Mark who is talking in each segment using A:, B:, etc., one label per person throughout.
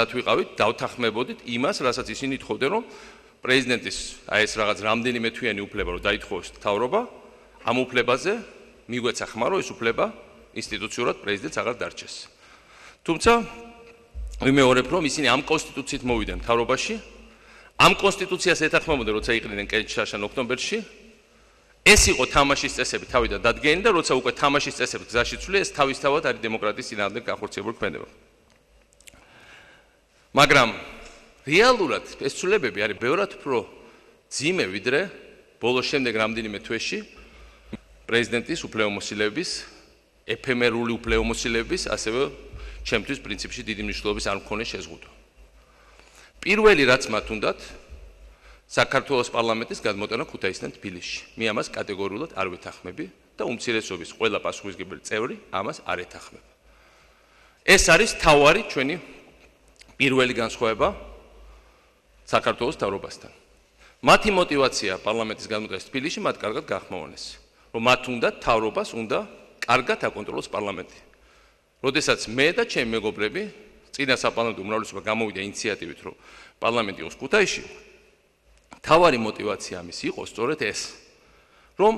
A: მზად ვიყავით, დავთანხმებოდით იმას, რასაც ისინი თხოვდნენ, რომ პრეზიდენტის აი ეს რაღაც რამდენიმე თვიანი უფლება რომ დაითხოვოს მთავრობა, ამ უფლებაზე მიგვეცა ხმა, რომ ეს უფლება ინსტიტუციურად პრეზიდენტს აღარ დარჩეს. თუმცა ვიმეორებ, რომ ისინი ამ კონსტიტუციით მოვიდნენ მთავრობაში, ამ კონსტიტუციას ეთანხმებოდნენ, როცა იყრიდნენ კენჭშაშან ოქტომბერში. ეს იყო თამაშის წესები თავიდან დადგენილი და როცა უკვე თამაშის წესები გზაში ცვლი, ეს თავისთავად არის დემოკრატიის წინააღმდეგ განხორციელებული ქმედება. მაგრამ რეალურად ეს ცვლილებები არის ბევრად უფრო ძიმე, ვიდრე ბოლოს შემდეგ რამდენიმე თვეში პრეზიდენტის უფლებამოსილების, ეფემერული უფლებამოსილების, ასევე ჩემთვის პრინციპში დიდი მნიშვნელობის არ მქონე შეზღუდვა. პირველი რაც მათ უნდათ საქართველოს პარლამენტის გადმოტანა ქუთაისიდან თბილისში. მე ამას კატეგორიულად არ ვეთანხმები და უმცირესობის ყველა პასუხისმგებელი წევრი ამას არ ეთანხმება. ეს არის თავარი ჩვენი პირველი განსხვავება საქართველოს მთავრობასთან. მათი мотиваცია პარლამენტის გადმოტანას თბილისში მათ კარგად გაახმოვანეს, რომ მათ უნდა მთავრობას უნდა კარგად აკონტროლოს პარლამენტი. როდესაც მე და ჩემი მეგობრები წინა საპარლამენტო უმრავლესობა გამოვიდა ინიციატივით, რომ პარლამენტი იყოს ქუთაისში, თავარი мотиваცია ამის იყო სწორედ ეს, რომ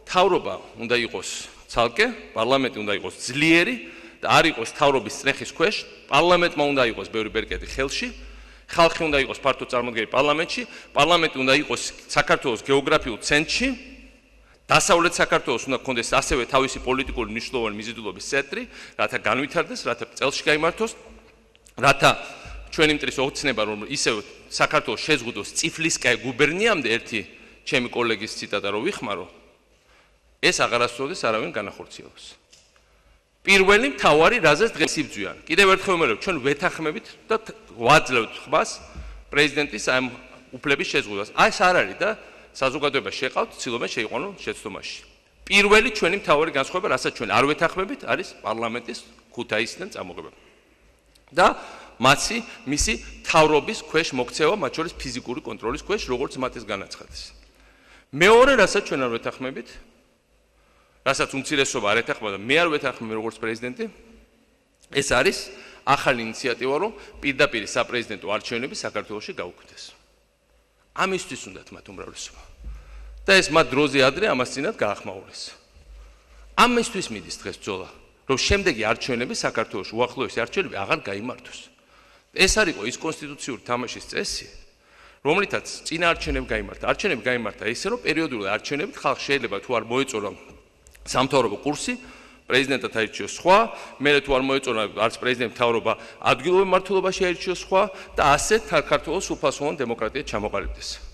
A: მთავრობა უნდა იყოს ცალკე, პარლამენტი უნდა იყოს ძლიერი და არ იყოს მთავრობის წრეხის ქვეშ, პარლამენტმა უნდა იყოს ბევრი ბერკეტი ხელში, ხალხი უნდა იყოს ფართო წარმოდგენილი პარლამენტში, პარლამენტი უნდა იყოს საქართველოს გეოგრაფიულ ცენტრში, დასავლეთ საქართველოს უნდა გქონდეს ასევე თავისი პოლიტიკური მნიშვნელოვანი მიზიდულობის ცენტრი, რათა განვითარდეს, რათა წელში გაიმართოს, რათა ჩვენი მტრის ოცნება რომ ისევ საქართველოს შეზღუდოს წიფლისკაი გუბერნიამდე ერთი ჩემი კოლეგის ციტატა რომ ვიხმარო, ეს აღარასდროს არავინ განახორციელოს. პირველი მთავარი რაზეც დღეს იბძვიან. კიდევ ერთხელ ვიმეორებ, ჩვენ ვეთანხმებით და ვაძლევთ ხმას პრეზიდენტის ამ უფლების შეზღუდვას. ეს არ არის და საზოგადოება შეყავთ, ცდილობენ შეიყვანონ შეცდომაში. პირველი ჩვენი მთავარი განსხვავება, რასაც ჩვენ არ ვეთანხმებით, არის პარლამენტის ქუთაისიდან წამოღება. და მისი მთავრობის ქვეშ მოქცევა, მათ შორის ფიზიკური კონტროლის ქვეშ, როგორც მათ ეს განაცხადეს. მეორე, რასაც ჩვენ არ ვეთანხმებით, რასაც უმცირესობა არ ეთანხმება და მე არ ვეთანხმები როგორც პრეზიდენტი, ეს არის ახალი ინიციატივა, რომ პირდაპირ საპრეზიდენტო არჩევნები საქართველოში გაუქმდეს. ამისთვის უნდათ მათ უმრავლესობა. და ეს მათ დროზე ადრე ამას წინათ გაახმაურეს. ამისთვის მიდის დღეს ბრძოლა, რომ შემდეგი არჩევნები საქართველოში უახლოესი არჩევნები აღარ გაიმართოს. ეს არისო ის კონსტიტუციური თამაშის წესი, რომლითაც წინა არჩევნები გაიმართა. არჩევნები გაიმართა ისე, რომ პერიოდულად არჩევნებით ხალხ შეიძლება თუ არ მოეწონა სამთავრობო კურსი, პრეზიდენტად აირჩიოს სხვა, მერე თუ არ მოეწონა არც პრეზიდენტ მთავრობა ადგილობრივ მმართველობაში აირჩიოს სხვა და ასე საქართველოს სრულფასოვანი დემოკრატია ჩამოყალიბდეს.